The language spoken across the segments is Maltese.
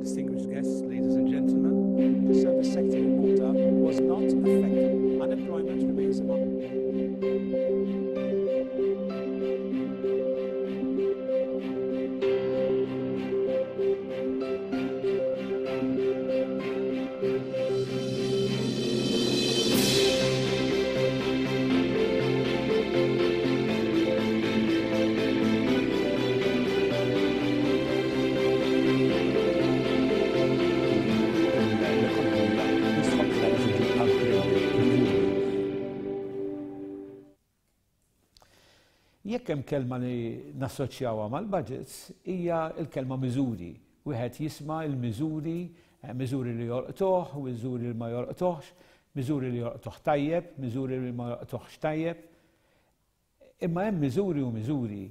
Distinguished guests, ladies and gentlemen, the service sector in Malta was not affected. Unemployment remains among L-ekonomija jistħoqqilha li tiġi upgraded miżuri. Jekk hemm kelma li nassoċjawha mal-budgets hija l-kelma miżuri. Wieħed jisma' l-miżuri, miżuri li jolqtuh, miżuri li ma jolqtuhx, miżuri li jolqtuh tajjeb, miżuri li ma jolqtuhx tajjeb. Imma hemm miżuri u miżuri.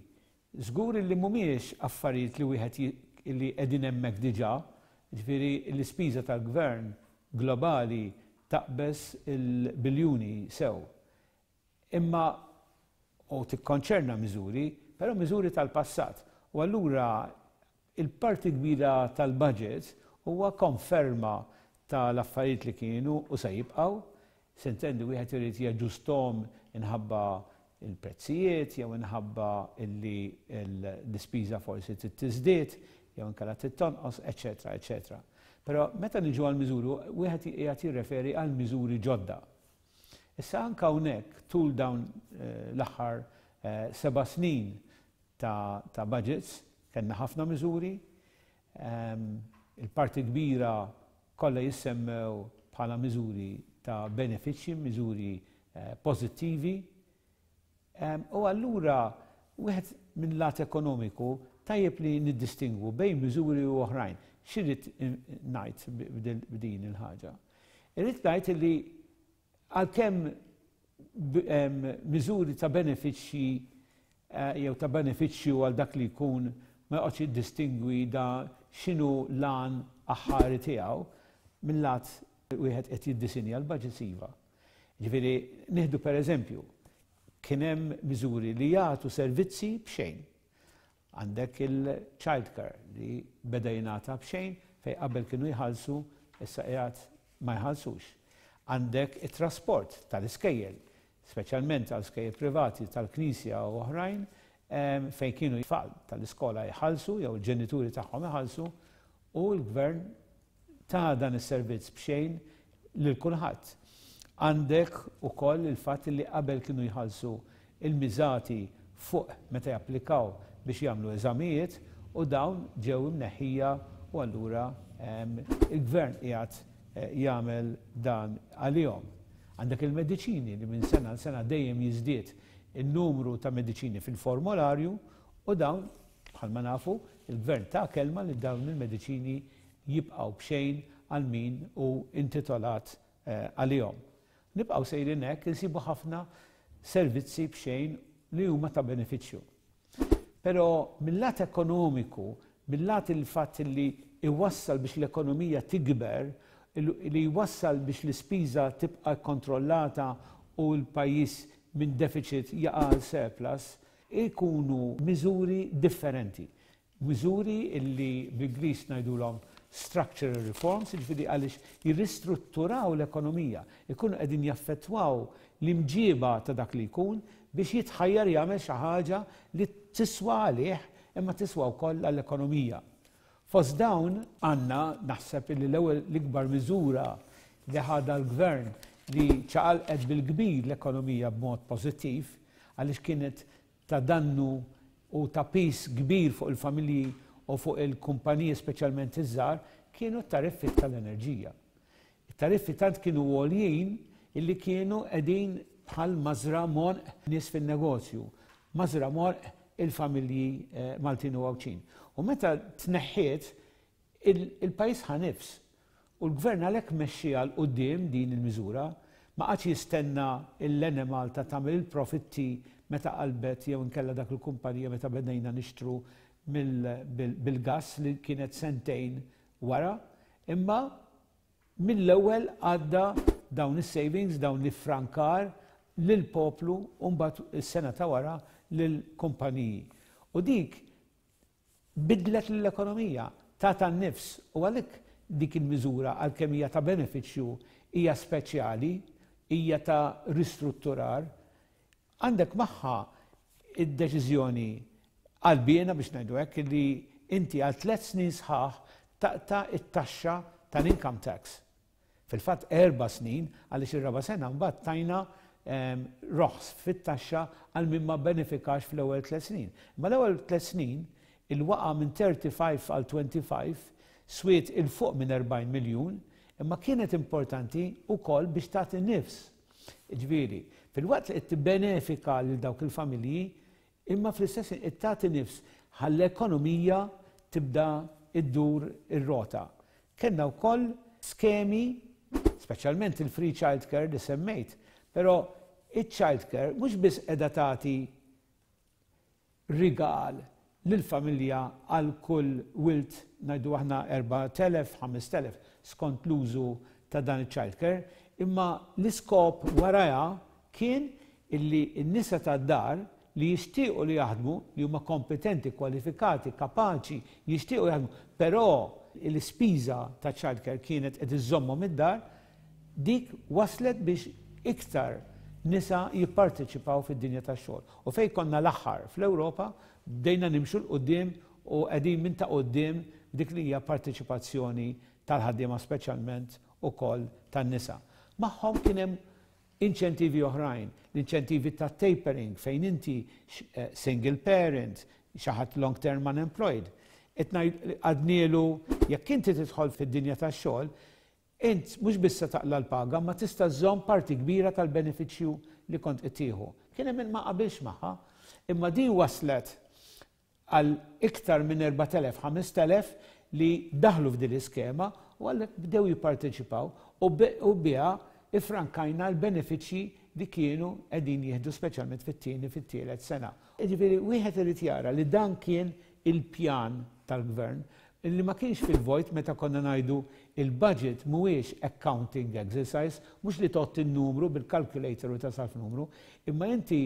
Żgur li mhumiex affarijiet li wieħed li qegħdin hemmhekk diġà, jiġifieri l-ispiża tal-gvern globali taqbeż il-biljuni sew. Imma u tikkonċerna miżuri, però miżuri tal-passat. U allura il-parti kbira tal-budget huwa konferma tal-affarijiet li kienu u se jibqgħu. S'intendi wieħed irid jaġġusthom inħabba l-prezzijiet jew inħabba illi l-ispiża forsi trid tiżdied jew inkella trid tonqos, eċċetera, eċċetera. Però meta niġu għall-miżuri wieħed qiegħed jirreferi għal miżuri ġodda. Issa anke hawnhekk tul dawn l-aħħar seba' snin ta' budgets kellna ħafna miżuri, il-parti kbira kollha jissemmew bħala miżuri ta' benefiċċji, miżuri pożittivi. U allura wieħed minn lat ekonomiku tajjeb li niddistingwu bejn miżuri u oħrajn. X'irrid ngħid b'din il-ħaġa? Irrid ngħid li għalkemm miżuri ta' benefiċċji eh, jew ta' benefiċċju għal dak li jkun ma joqgħodx jiddistingwi da x'inhu l-għan aħħari tiegħu, mill-lat wieħed qed jiddisinja l-budgets iva. Ġifieri nieħdu pereżempju, kien hemm miżuri li jagħtu servizzi b'xejn. Għandek il-child care li beda jingħata b'xejn fejn qabel kienu jħallsu issa qiegħed ma jħallsux. Għandek it-trasport tal-iskejjel, speċjalment għal skejjel privati tal-Knisja u oħrajn fejn kienu tfal tal-iskola jħallsu jew il-ġenituri tagħhom iħallsu u l-gvern ta dan is-servizz b'xejn lil kulħadd. Għandek ukoll il-fatt li qabel kienu jħallsu il-miżati fuq meta japplikaw biex jagħmlu eżamijiet u dawn ġew imneħħija u allura il-gvern qiegħed jagħmel dan għalihom. Għandek il-mediċini li minn sena għal sena dejjem jiżdied in-numru ta' mediċini fil-formolarju u dawn bħalma nafu il-gvern ta kelma li dawn il-mediċini jibqgħu b'xejn għal min hu intitolat għalihom. Nibqgħu sejrin hekk insibu ħafna servizzi b'xejn li huma ta' benefiċċju. Però mill-lat ekonomiku, mill-lat il-fatt li iwassal biex l-ekonomija tikber, li jwassal biex l-ispiża tibqa' kkontrollata u l-pajjiż minn deficit jaqa' għal surplus, ikunu miżuri differenti. Miżuri li bl-Ingliż ngħidulhom structural reforms, jiġifieri għaliex jirristrutturaw l-ekonomija, ikunu qegħdin jaffettwaw l-imġiba ta' dak li jkun biex jitħajjar jagħmel xi ħaġa li tiswa għalih imma tiswa wkoll għall-ekonomija. Fost dawn għandna naħseb li l-ewwel l-ikbar miżura li ħadha l-gvern li ċaqalqet bil-kbir l-ekonomija b'mod pożittiv għaliex kienet ta' dannu u ta' piż kbir fuq il-familji u fuq il-kumpaniji speċjalment iż-żgħar kienu t-tariffi tal-enerġija. It-tariffi tant kienu għoljin illi kienu qegħdin bħal mażra m'għonq nies fin-negozju, mażra m'għonq il-familji Maltin u Għawdxin. U meta tneħħiet, il-pajjiż ħa nifs. U l-Gvern għalhekk mexxieha 'l quddiem din il-miżura. Ma qagħadx jistenna l-Enemalta tagħmel il-profitti meta qalbet jew inkella dak il-kumpanija meta bedejna nixtru bil-gass li kienet sentejn wara, imma mill-ewwel għadda dawn is-savings, dawn l-iffrankar lill-poplu u mbagħad is-sena ta' wara lill-kumpaniji. U dik Biddlet lill-ekonomija. tagħta n-nifs u għalhekk dik il-miżura għalkemm hija ta' benefiċċju hija speċjali, hija ta' ristrutturar. Għandek magħha id-deċiżjoni qalbiena biex ngħidu hekk li inti għal tlett snin sħaħ taqta' it-taxxa tal-income tax. Fil-fatt erba' snin għaliex ir-raba' sena mbagħad tajna roħs fit-taxxa għal min ma bbenefikax fl-ewwel tlett snin. Imma l-ewwel tlett snin il-waqgħa minn 35 għal 25 swiet 'il fuq minn 40 miljun imma kienet importanti wkoll biex tagħti nifs. Jiġifieri, filwaqt li qed tibbenefika lil dawk il-familji, imma fl-istess ħin qed tagħti nifs ħalli l-ekonomija tibda ddur ir-rota. Kellna wkoll skemi, speċjalment il-free childcare li semmejt, però iċ-childcare mhux biss qiegħda tagħti rigal lill-familja għal kull wild ngħidu aħna 4,000, 5,000 skont l-użu ta' dan iċ-childcare, imma l-iskop warajha kien illi n-nisa tad-dar li jixtiequ li jaħdmu, li huma kompetenti, kwalifikati, kapaċi, jixtiequ jaħdmu, però l-ispiża ta' childcare kienet qed iżżommhom id-dar, dik wasslet biex iktar nisa jipparteċipaw fid-dinja tax-xogħol. U fejn konna l-aħħar fl-Ewropa, bdejna nimxu 'l quddiem u qegħdin minn ta' quddiem f'dik li hija parteċipazzjoni tal-ħaddiema speċjalment ukoll tan-nisa. Magħhom kien hemm inċentivi oħrajn, l-inċentivi ta' tapering fejn inti single parent, xi ħadd long term unemployed. Qed ngħid għadnielu jekk inti tidħol fid-dinja tax-xogħol, int mhux biss se taqla' l-paga imma tista' żżomm parti kbira tal-benefiċċju li kont qed tieħu. Kien hemm min ma qabilx magħha, imma din wasslet għal iktar minn 4,000, 5,000 li daħlu f'din l-iskema u għalhekk bdew jipparteċipaw u biha iffrankajna l-benefiċċji li kienu qegħdin jieħdu speċjalment fit-tieni fit-tielet sena. Jiġifieri wieħed irid jara li dan kien il-pjan tal-Gvern li ma kienx fil-vojt meta konna ngħidu il-budget mhuwiex accounting exercise, mhux li tgħodd in-numru bil-calculator u tasal f'numru, imma inti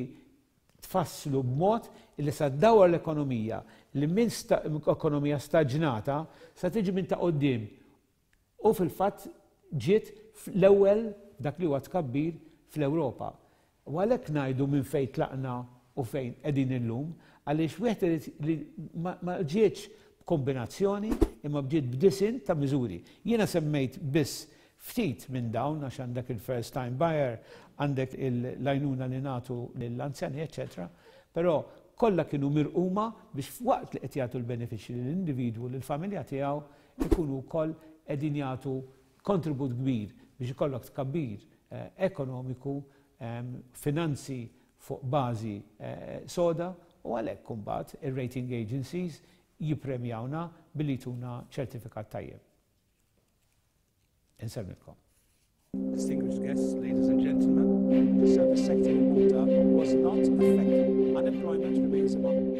tfasslu b'mod li sa ddawwar l-ekonomija li minn ekonomija staġnata sa tiġi minn ta' quddiem u fil-fatt ġiet l-ewwel dak li huwa tkabbir fl-Ewropa. U għalhekk ngħidu minn fejn tlaqna u fejn qegħdin illum, għaliex wieħed irid li ma ġietx b'kombinazzjoni imma bġiet b'disinn ta' miżuri. Jiena semmejt biss Ftit minn dawn għax għandek il-first time buyer, għandek l-għajnuna li nagħtu lill-anzjani eċċetera, però kollha kienu mirquma biex waqt li qed jagħtu l-benefiċċji lill-individwu, lill-familja tiegħu, ikunu wkoll qegħdin jagħtu kontribut kbir biex ikollok tkabbir ekonomiku, finanzi fuq bażi soda u għalhekk imbagħad ir-rating agencies jippremjawna billi jtuna ċertifikat tajjeb. Insellmilkom. Distinguished guests, ladies and gentlemen, the service sector in Malta was not affected. Unemployment remains among...